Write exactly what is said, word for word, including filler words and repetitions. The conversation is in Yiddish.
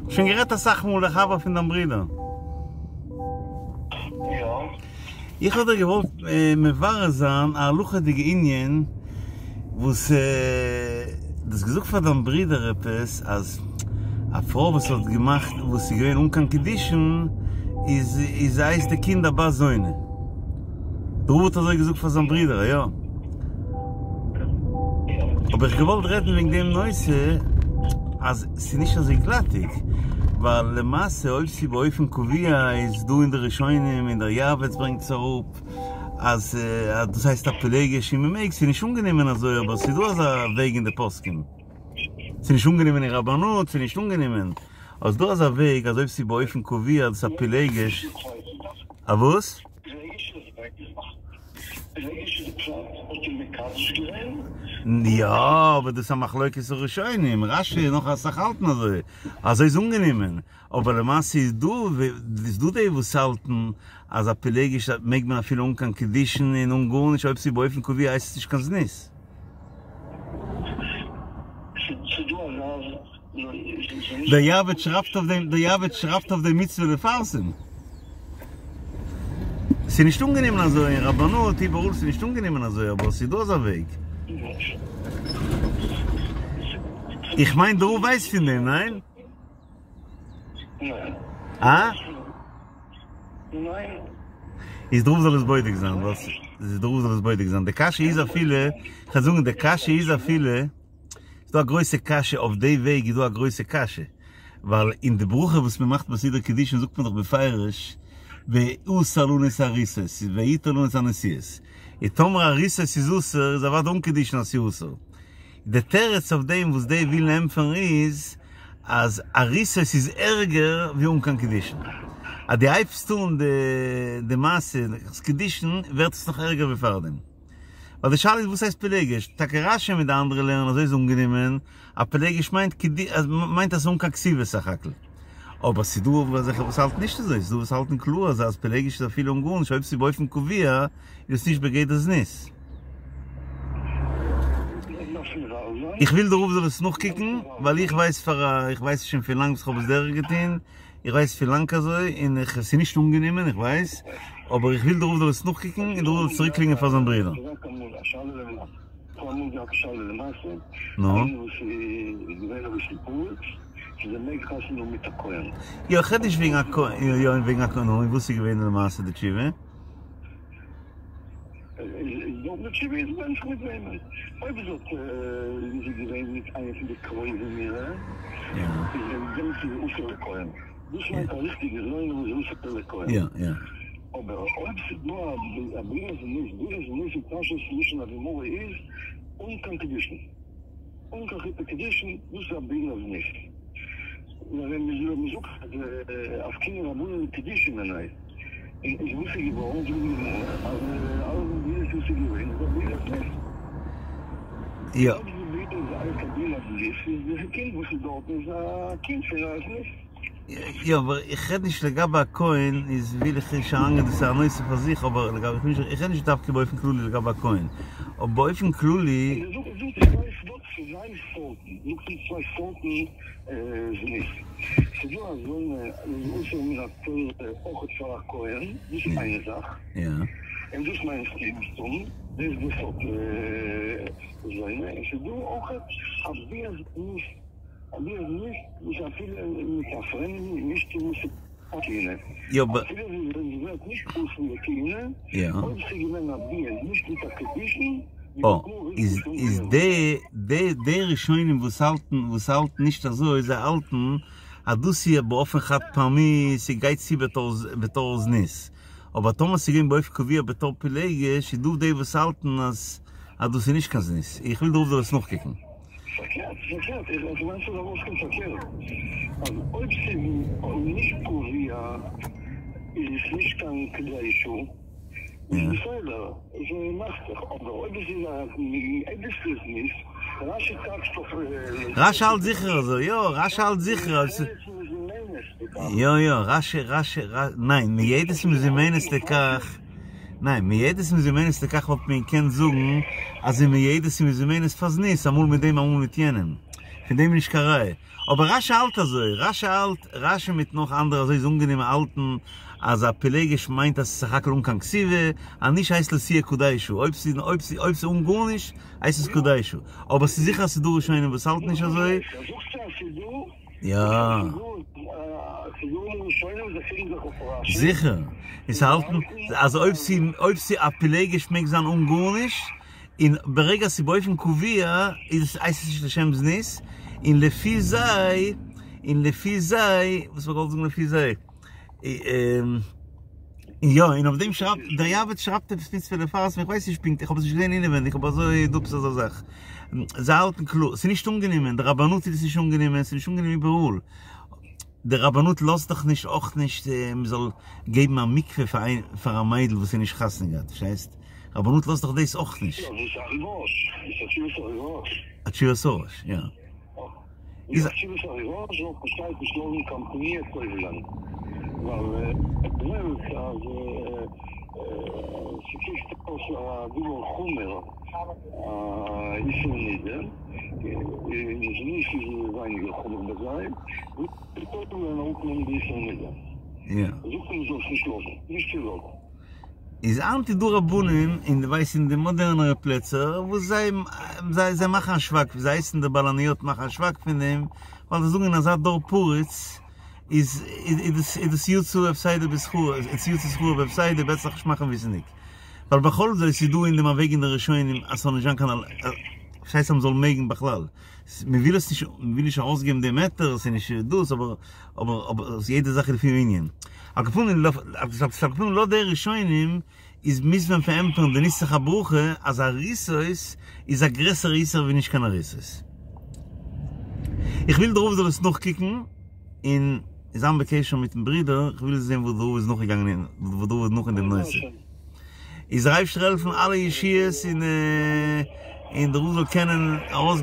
שוין גערעדט אסאך מאל, דער חבר פון דיין ברודער. יא. איך האב דיר געוואלט מברר זיין א הלכה'דיגע ענין וואס דו האסט געזאגט פאר דיין ברודער עפעס אז א פרוי וואס האט געמאכט וואס איז געווען אן קיין קידושין איז איז הייסט די קינד א בת זונה. דער רב האט אזוי געזאגט פאר זיין ברודער, יא? האב איך געוואלט רעדן וועגן דעם נושא אז ס'איז נישט אזוי גלאטיג, ווייל למעשה אויב ס'איז באופן קבוע איז דא אין די ראשונים און דער יעבץ ברענגט עס אראפ אז דאס הייסט א פילגש און מ'מעג, ס'איז נישט אנגענומען אזוי אבער ס'איז דא אזא וועג אין די פוסקים, ס'איז נישט אנגענומען אין רבנות, ס'איז נישט אנגענומען, אבער ס'איז דא אזא וועג אז אויב ס'איז באופן קבוע דאס א פילגש, א וואס? יא, אבער דאס איז א מחלוקת הראשונים, רש"י און נאך אסאך האלטן אזוי, אזוי איז אנגענומען, אבער למעשה איז דא איז דא די וואס האלטן אז א פילגש מעג מען אפילו אן קיין קידושין און אן גארנישט אויב ס'איז באופן קבוע הייסט עס נישט קיין זנות. דער יעבץ שרייבט אויף דעם, דער יעבץ שרייבט אויף דעם מצוה לפרסם. ס'איז נישט אנגענומען אזוי אין רבנות, איבעראל ס'איז נישט אנגענומען אזוי, אבער ס'איז דא אזא וועג. איך מיין דער רב ווייסט פון דעם, ניין? אה? איז דער רב זאל עס בודק זיין, וואס? דער רב זאל עס בודק זיין. די קשיא איז אפילו, כ'וועל זאגן די קשיא איז אפילו, ס'איז דא א גרויסע קשיא, אויף די וועג איז דא א גרויסע קשיא, ווייל אין די ברכה וואס מען מאכט ביי סידור קידושין זאגט מען דאך בפירוש ועשה לנו את הארוסות ויתר לנו את הנשואות, און טאמער ארוסות איז אסור איז אוודאי אן קידושין אז ס'איז אסור. די תירוץ אויף דעם וואס די ווילן ענטפערן איז אז ארוסות איז ערגער ווי אן קיין קידושין. אז דו הייבסט אן די מעשה קידושין ווערט עס נאך ערגער ווי פארדעם. ווייל די שאלה איז וואס הייסט פילגש? טאקע רש"י מיט די אנדערע לערנען אזוי איז אנגענומען אז פילגש מיינט מיינט אז ס'איז אן קיין כתובה סך הכל. אבער ס'איז דא אזעלכע וואס האלטן נישט אזוי, ס'איז דא וואס האלטן קלאר אז אז פילגש איז אפילו אן גארנישט אויב ס'איז באופן קבוע איז עס נישט בגדר זנות. איך וויל דער רב זאל עס נאכקוקן ווייל איך ווייס פאר א איך ווייס שוין פון לאנג וואס כ'האב עס דורך געטון. איך ווייס פון לאנג אזוי, און איך, ס'איז נישט אנגענומען, איך ווייס, אבער איך וויל דער רב זאל עס נאכקוקן, און דער רב זאל צוריקקלינגען פאר זיין ברודער. נו? יא, איך רעד נישט וועגן א כהן, יא, וועגן א כהן, נו, און וואס איז געווען למעשה די תשובה? יא יא. איז וואס איז געווארן? זאגט די גמרא אז אלע מדינות וואס איז געווען איז א בעילת זנות. יא. אויב די בעילה איז אלעס א בעילת זנות איז די קינד וואס איז דארטן איז א קינד פון א זנות. יא אבער איך רעד נישט לגבי א כהן איז וויל איך נישט אריינגיין דאס איז א נושא פאר זיך אבער לגבי איך בין איך רעד נישט דווקא באופן כללי לגבי א כהן אבער באופן כללי. זאגט צוויי סארטן, זאגט אונז צוויי סארטן זנות, ס'דא אזוינע וואס איז אסור מן התורה אויכעט פאר א כהן, דאס איז איין זאך, און דאס מיינסטו מסתם, דאס איז די סארט זונה, און ס'דא אויכעט א ביאת זנות, א ביאת זנות וואס אפילו מיט א פרעמדן נישט וואס איז כהונה, אפילו זי ווערט נישט פסול לכהונה, אויב ס'איז געווען א ביאה נישט מיט א קידושין, אה, איז איז די די די ראשונים וואס האלטן וואס האלטן נישט אזוי זיי האלטן אז דאס איז באופן חד פעמי ס'גייט צו בתור בתור זנות אבער טאמער ס'איז געווען באופן קבוע בתור פילגש איז דא די וואס האלטן אז אז דאס איז נישט קיין זנות איך וויל דער רב זאל עס נאכקוקן. פארקערט, פארקערט, איך איך מיין ס'זאל ארויסקומען פארקערט, אז אויב ס'איז נישט קבוע איז עס נישט קיין כדי שעה, איז בסדר, עס מאכט זיך, אבער אויב עס איז א עדות'לעס ניס, רשי טייטשט אויף. רשי האלט זיכער אזוי, יא, רשי האלט זיכער אז. יא יא, רשי רשי ניין, מועדת ומזומנת לכך, ניין, מועדת ומזומנת לכך וואלט מען געקענט זאגן אז זי מועדת ומזומנת פאר זנות, אמאל מיט דעם אמאל מיט יענעם. פון דעם איז נישט קיין ראיה. אבער רש"י האלט אזוי, רש"י האלט, רש"י מיט נאך אנדערע אזוי איז אנגענומען האלטן אז א פילגש מיינט אז ס'איז סך הכל אן קיין כתובה, אז נישט הייסט לא תהיה קדשה, אויב ס'איז אויב ס'איז אויב ס'איז אן גארנישט הייסט עס קדשה, אבער ס'איז זיכער אז ס'איז דא ראשונים וואס האלטן נישט אזוי. יא. זיכער. און ס'האלטן אז אויב ס'איז אויב ס'איז א פילגש מעג זיין אן גארנישט, און ברגע ס'איז באופן קבוע איז עס הייסט עס נישט לשם זנות, און לפי זיי, און לפי זיי, וואס האב איך געוואלט זאגן לפי זיי? יא, און אויף דעם שרייבט, דער יעבץ שרייבט עפעס מצוה לפרסם, איך ווייס נישט פונקט, איך האב עס נישט געזען אינעווענדיג, אבער אזוי איז דא עפעס אזא זאך. זיי האלטן קלאר, ס'איז נישט אנגענומען, די רבנות איז עס נישט אנגענומען, ס'איז נישט אנגענומען איבעראל. די רבנות לאזט דאך נישט אויך נישט מען זאל געבן א מקווה פאר איין פאר א מיידל וואס איז נישט חתונה געהאט, פארשטייסט? רבנות לאזט דאך דאס אויך נישט. יא, דאס איז א ראש, דאס איז א תשובת הראש. א תשובת הראש, יא. איז א תשובת הראש זאל פארשטייט נישט לאזן קיין פניה טובל'ען, ווייל ער לערנט אז ס'קוקט אויס א דבר חמור א איסור נידה, און זנות איז ווייניגער חמור ביי זיי, וויל טובל'ען אראפנעמען די איסור נידה. זאגט מען זאל עס נישט לאזן, נישט צולאזן. איז היינט איז דא רבנים אין די ווייסט אין די מאדערנערע פלעצער וואס זיי זיי זיי מאכן א שווייג זיי הייסן די בלניות מאכן א שווייג פון דעם ווייל זיי זאגן אין אזא דור פרוץ איז איז דאס איז דאס יצא הפסדו בשכרו איז יצא שכרו בהפסדו בעסער זיך נישט מאכן וויסענדיג ווייל בכל זאת איז דא אין דעם א וועג אין די ראשונים אז ס'זאל נישט זיין קיין ס'הייסט אז מ'זאל מעגן בכלל מ'וויל עס נישט מ'וויל נישט ארויסגעבן דעם היתר ס'איז נישט דאס אבער אבער אבער יעדע זאך איז לפי הענין. על כל פנים על כל פנים לויט די ראשונים איז מוז מען פארענטפערן די נוסח הברכה אז ארוסות איז א גרעסערע איסור ווי נישט קיין ארוסות. איך וויל דער רב זאל עס נאכקוקן און זיין בקשר מיטן ברודער, איך וויל זען וואס דער רב איז נאכגעגאנגען און וואס דער רב איז נאך אין דעם נושא. איז דער אייבשטער העלפן אלע ישועות און און דער רב זאל קענען ארויס.